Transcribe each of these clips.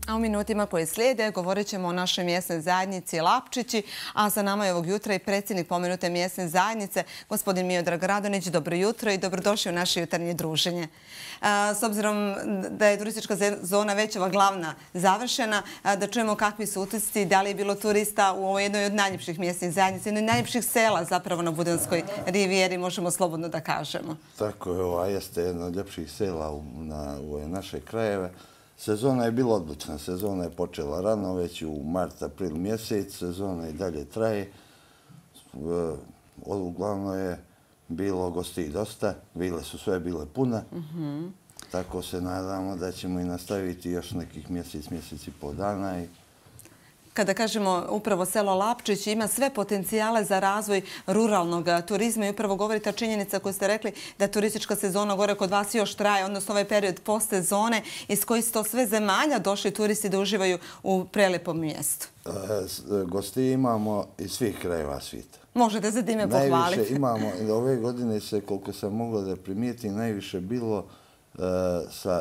A u minutima koje slijede govorit ćemo o našoj mjesnoj zajednici Lapčići, a sa nama je ovog jutra i predsjednik pomenute mjesne zajednice, gospodin Miodrag Radonjić. Dobro jutro i dobrodošli u naše jutarnje druženje. S obzirom da je turistička sezona već ova glavna završena, da čujemo kakvi su utisci, da li je bilo turista u ovoj jednoj od najljepših mjesnih zajednica, jednoj od najljepših sela zapravo na Budanskoj rivijeri, možemo slobodno da kažemo. Tako je, ova jeste jedna od ljepših sela u ove naše krajeve. Sezona je bila odlična. Sezona je počela rano, već u mart, april mjesec. Sezona i dalje traje. Uglavnom je bilo gostiju dosta. Vile su sve bile pune. Tako se nadamo da ćemo i nastaviti još nekih mjesec i pol dana. Kada kažemo upravo selo Lapčić ima sve potencijale za razvoj ruralnog turizma i upravo govori ta činjenica koju ste rekli da turistička sezona gore kod vas još traje, odnosno ovaj period postsezone iz koji su to sve zemalja došli turisti da uživaju u prelepom mjestu. Gostije imamo iz svih krajeva svijeta. Možete se time pohvaliti. Najviše imamo, ove godine se, koliko sam mogla da primijetim, najviše bilo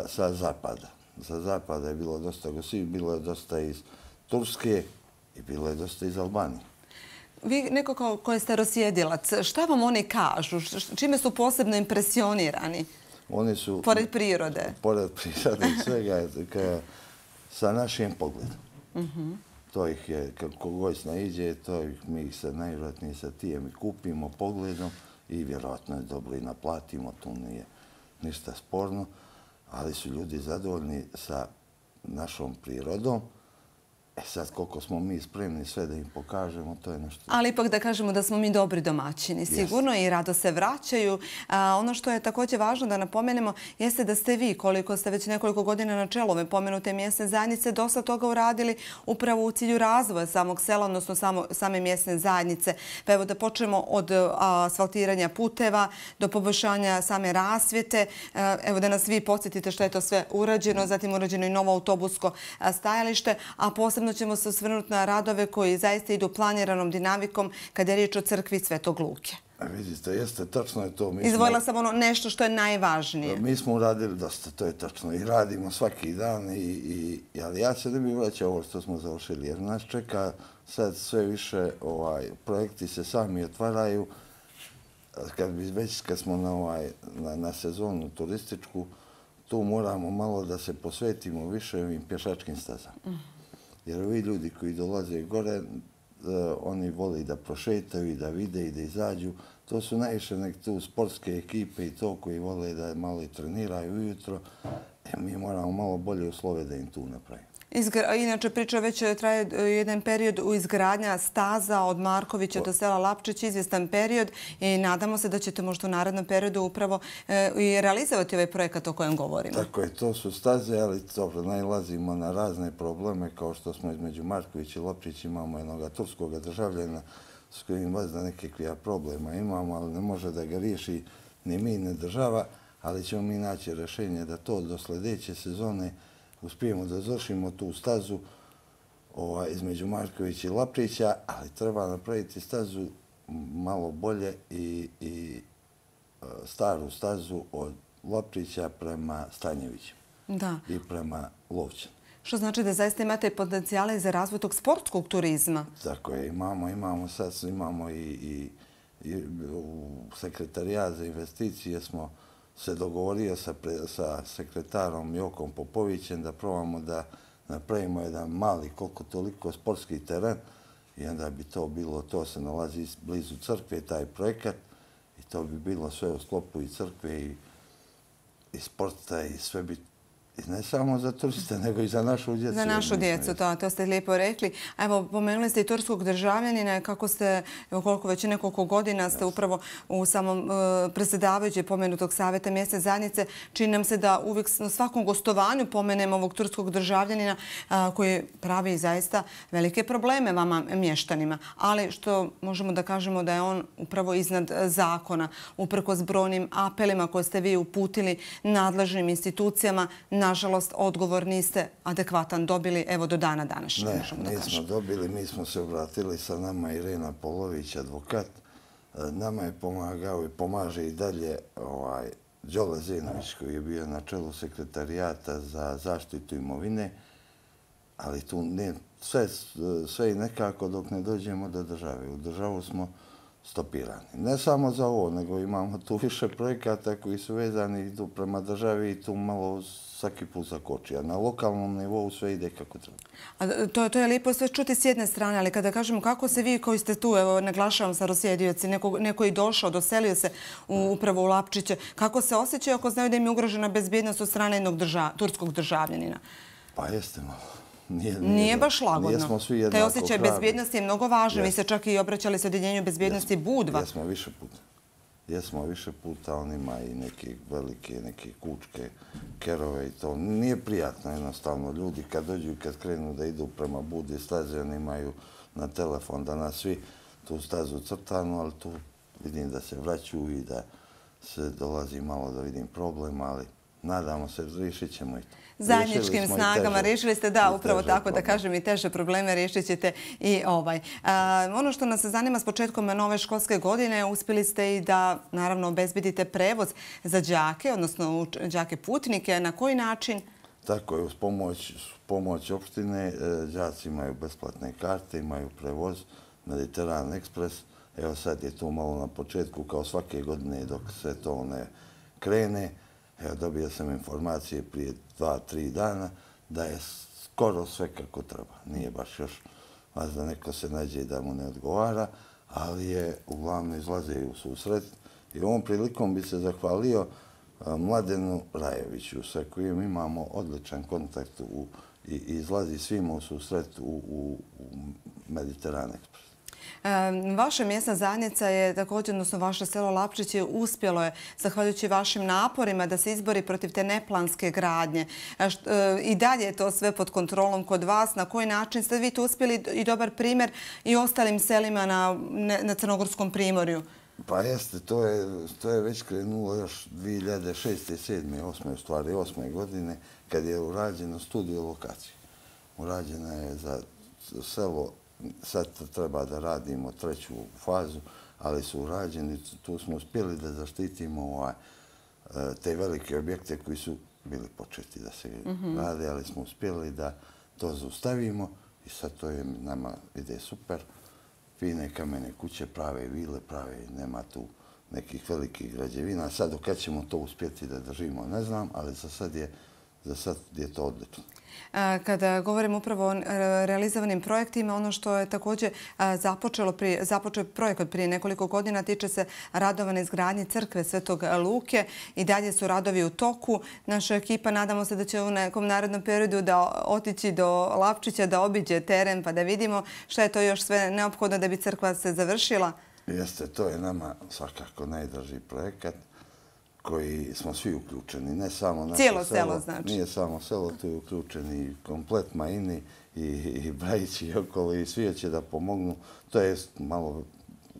sa zapada. Sa zapada je bilo dosta gostiju, bilo je dosta iz Turske i bilo je dosta iz Albanije. Vi neko koji ste rosjedilac, šta vam oni kažu? Čime su posebno impresionirani? Oni su... Pored prirode? Pored prirode i svega sa našim pogledom. To ih je, kako god naiđe, mi ih se najvjerojatnije sa tijem i kupimo pogledom i vjerojatno je dobro i naplatimo, tu nije ništa sporno, ali su ljudi zadovoljni sa našom prirodom. Sad, koliko smo mi spremni sve da im pokažemo, to je nešto... Ali ipak da kažemo da smo mi dobri domaćini, sigurno, i rado se vraćaju. Ono što je također važno da napomenemo jeste da ste vi, koliko ste već nekoliko godina na čelu ove pomenute mjesne zajednice, dosta toga uradili upravo u cilju razvoja samog sela, odnosno same mjesne zajednice. Pa evo da počnemo od asfaltiranja puteva do poboljšanja same rasvjete. Evo da nas vi podsjetite što je to sve urađeno, zatim urađeno i novo autobusko stajalište, a posebno ćemo se osvrnuti na radove koji zaista idu planiranom dinamikom kada je riječ o crkvi Svetog Luke. Vidite, jeste, tačno je to. Izvojila sam ono nešto što je najvažnije. Mi smo uradili dosta, to je tačno. I radimo svaki dan, ali ja se ne bih vraćao ovo što smo završili, jer nas čeka sad sve više, projekti se sami otvaraju. Kad smo na sezonu turističku, tu moramo malo da se posvetimo više ovim pješačkim stazama. Jer ovi ljudi koji dolaze gore, oni vole da prošetaju i da vide i da izađu. To su najviše nek tu sportske ekipe i to koji vole da malo i treniraju ujutro. Mi moramo malo bolje uslove da im tu napravimo. Inače, priča već traje jedan period u izgradnja staza od Markovića do sela Lapčić, izvjestan period i nadamo se da ćete možda u narednom periodu upravo i realizovati ovaj projekat o kojem govorimo. Tako je, to su staze, ali dobro, nailazimo na razne probleme kao što smo između Markovića i Lapčić imamo jednog turskog državljana s kojim vazda nekakvih problema imamo, ali ne može da ga riješi ni mi, ni država, ali ćemo mi naći rješenje da to do sljedeće sezone uspijemo da završimo tu stazu između Markovića i Lapčića, ali treba napraviti stazu malo bolje i staru stazu od Lapčića prema Stanjeviću i prema Lovćanu. Što znači da zaista imate potencijale za razvoj tog sportskog turizma? Tako je, imamo sad i sekretarijat za investicije smo se dogovorio sa sekretarom Jokom Popovićem da probamo da napravimo jedan mali, koliko toliko sportski teren i onda bi to bilo, to se nalazi blizu crkve, taj projekat i to bi bilo sve u sklopu i crkve i sporta i sve bi ne samo za turiste, nego i za našu djecu. Za našu djecu, to ste lijepo rekli. Evo, pomenuli ste i turskog državljanina, kako ste, koliko već nekoliko godina ste upravo u samom predsjedavajućem pomenutog savjeta mjesne zajednice. Čini nam se da uvijek na svakom gostovanju pomenemo ovog turskog državljanina koji pravi zaista velike probleme vama mještanima. Ali što možemo da kažemo da je on upravo iznad zakona, uprkos brojnim apelima koje ste vi uputili nadležnim institucijama. Nažalost, odgovor niste adekvatan dobili, evo, do dana današnjeg. Ne, nismo dobili. Mi smo se obratili sa nama Irena Polović, advokat. Nama je pomagao i pomaže i dalje Đole Zenović, koji je bio na čelu sekretarijata za zaštitu imovine. Ali tu nije sve i nekako dok ne dođemo do države. U državu smo stopirani. Ne samo za ovo, nego imamo tu više projekata koji su vezani idu prema državi i tu malo svaki put zakoči. A na lokalnom nivou sve ide kako treba. A to je lijepo sve čuti s jedne strane, ali kada kažemo kako se vi koji ste tu, evo naglašavam starosjedioci, neko je došao, doselio se upravo u Lapčiće, kako se osjećaju ako znaju da im je ugrožena bezbjednost od strane jednog turskog državljanina? Pa jeste malo. Nije baš lagodno. Taj osjećaj bezbjednosti je mnogo važan. Vi ste čak i obraćali se Odjeljenju bezbjednosti Budva. Jesmo više puta. Jesmo više puta. On ima i neke velike, neke kučke, kerove i to. Nije prijatno jednostavno. Ljudi kad dođu i kad krenu da idu prema Budvi staze, oni imaju na telefon danas svi tu stazu crtanu, ali tu vidim da se vraćaju i da se dolazi malo da vidim problem, ali nadamo se, riješit ćemo i to. Zajedničkim snagama riješili ste, da, upravo tako da kažem, i teže probleme riješit ćete i ovaj. Ono što nas zanima s početkom nove školske godine, uspjeli ste i da, naravno, obezbedite prevoz za đake, odnosno đake putnike. Na koji način? Tako je, uz pomoć opštine, đaci imaju besplatne karte, imaju prevoz, Mediteran Ekspres. Evo sad je to malo na početku, kao svake godine dok se to ne krene. Evo, dobio sam informacije prije 2-3 dana da je skoro sve kako treba. Nije baš još vas da neko se nađe da mu ne odgovara, ali je uglavnom izlaze u susret. I ovom prilikom bi se zahvalio Mladenu Rajeviću, sa kojim imamo odličan kontakt i izlazi svima u susret u Mediteran Ekspres. Vaša mjesna zajednica je također, odnosno vaše selo Lapčiće, uspjelo je, zahvaljujući vašim naporima, da se izbori protiv te neplanske gradnje. I dalje je to sve pod kontrolom kod vas. Na koji način ste vi tu uspjeli i dobar primjer i ostalim selima na Crnogorskom primorju? Pa jeste, to je već krenulo još 2006. 2007. 2008. u stvari 2008. godine, kad je urađeno studiju lokacije. Urađena je za selo. Sad treba da radimo treću fazu, ali su urađeni. Tu smo uspjeli da zaštitimo te velike objekte koji su bili početi da se rade, ali smo uspjeli da to zaustavimo i sad to je nama ide super. Fine kamene kuće prave, vile prave, nema tu nekih velikih građevina. Sad dok ćemo to uspjeti da držimo, ne znam, ali za sad je to odlično. Kada govorimo upravo o realizovanim projektima, ono što je također započeo projekat prije nekoliko godina tiče se radova na izgradnji crkve Svetog Luke. I dalje su radovi u toku. Naša ekipa, nadamo se da će u nekom narednom periodu da otići do Lapčića, da obiđe teren pa da vidimo šta je to još sve neophodno da bi crkva se završila. Jeste, to je nama svakako najdraži projekat koji smo svi uključeni, ne samo naše selo. Cijelo selo, znači. Nije samo selo, tu je uključeni komplet Majini i Brajići i okolo i svi će da pomognu. To je malo,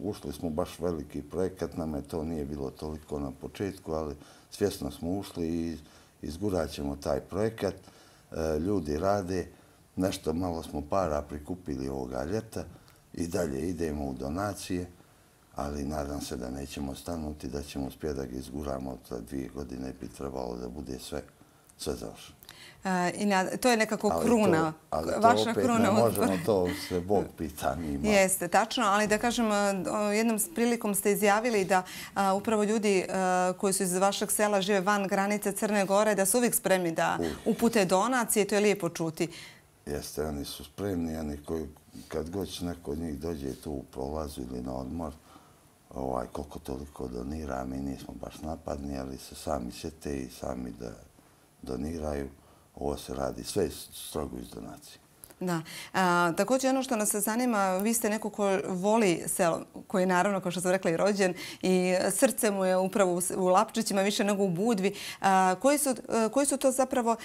ušli smo baš veliki projekat, nama to nije bilo toliko na početku, ali svjesno smo ušli i izgurat ćemo taj projekat. Ljudi rade, nešto malo smo para prikupili ovoga ljeta i dalje idemo u donacije. Ali nadam se da nećemo stanuti, da ćemo uspjeti da ga izguramo. Za 2 godine bi trebalo da bude sve završeno. To je nekako kruna. Ali to opet ne možemo, to se Bog pita njima. Jeste, tačno, ali da kažem, jednom prilikom ste izjavili da upravo ljudi koji su iz vašeg sela žive van granice Crne Gore, da su uvijek spremni da upute donacije, to je lijepo čuti. Jeste, oni su spremni, oni koji kad god neko od njih dođe tu u prolazu ili na odmor, koliko toliko donira, mi nismo baš napadni, ali se sami sjete i sami da doniraju. Ovo se radi sve strogo iz donacije. Da. Također ono što nas zanima, vi ste neko ko voli selo, koji je naravno, kao što sam rekla, i rođen i srce mu je upravo u Lapčićima više nego u Budvi. Koji su to zapravo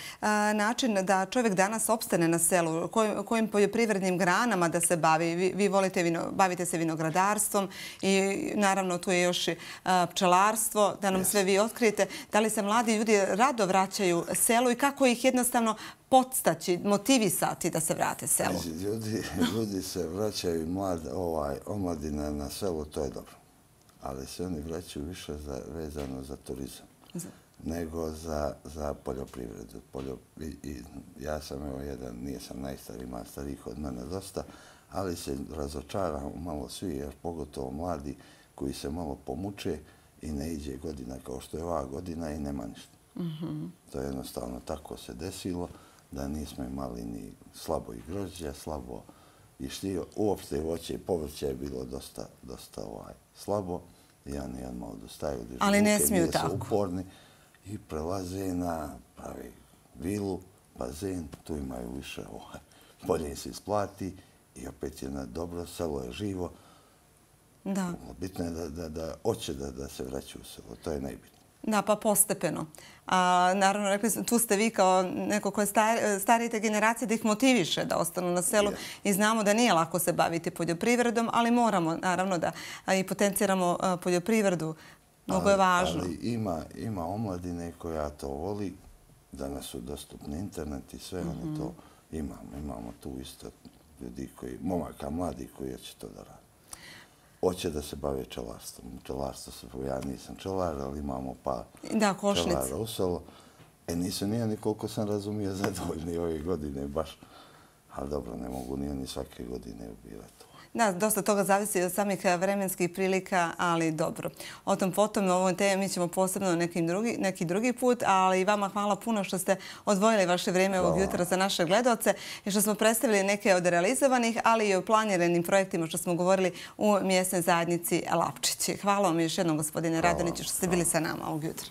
način da čovjek danas opstane na selu? Kojim poljoprivrednim granama da se bavi? Vi bavite se vinogradarstvom i naravno tu je još pčelarstvo, da nam sve vi otkrijete. Da li se mladi ljudi rado vraćaju selu i kako ih jednostavno podstaći, motivisati da se vrate selu? Ljudi se vraćaju omladina na selo, to je dobro. Ali se oni vraćaju više vezano za turizam. nego za poljoprivredu. Ja sam jedan, nisam najstariji, ima starijih od mene dosta, ali se razočaram malo svi, jer pogotovo mladi koji se malo pomuče i ne iđe godina kao što je ova godina i nema ništa. To je jednostavno tako se desilo, da nismo imali ni slabo i grožđa, slabo i štio. Uopšte voće i povrće je bilo dosta slabo i oni odmah odustaju. Ali ne smiju tako. Uporni i prelaze na pravi vilu, bazen, tu imaju više, bolje se isplati i opet je na dobro, selo je živo. Da. Bitno je da hoće da se vraćaju u selo, to je najbitnije. Da, pa postepeno. Naravno, rekli, tu ste vi kao neko ko je starije generacije da ih motiviše da ostanu na selu i znamo da nije lako se baviti poljoprivredom, ali moramo naravno da i potenciramo poljoprivredu. Mnogo je važno. Ali ima omladine koja to voli, danas su dostupni internet i sve, oni to imamo. Imamo tu isto ljudi momaka mladi koji će to da rade. Hoće da se bave pčelarstvom. Ja nisam pčelar, ali imamo pa pčelara u selo. Nisu ni oni, koliko sam razumio, zadovoljni ove godine baš. Ali dobro, ne mogu ni oni svake godine ubirati. Da, dosta toga zavisi od samih vremenskih prilika, ali dobro. O tom potom, o ovoj temi ćemo posebno neki drugi put, ali i vama hvala puno što ste odvojili vaše vrijeme ovog jutra za naše gledaoce i što smo predstavili neke od realizovanih, ali i o planiranim projektima što smo govorili u mjesnoj zajednici Lapčići. Hvala vam još jednom, gospodine Radoniću, što ste bili sa nama ovog jutra.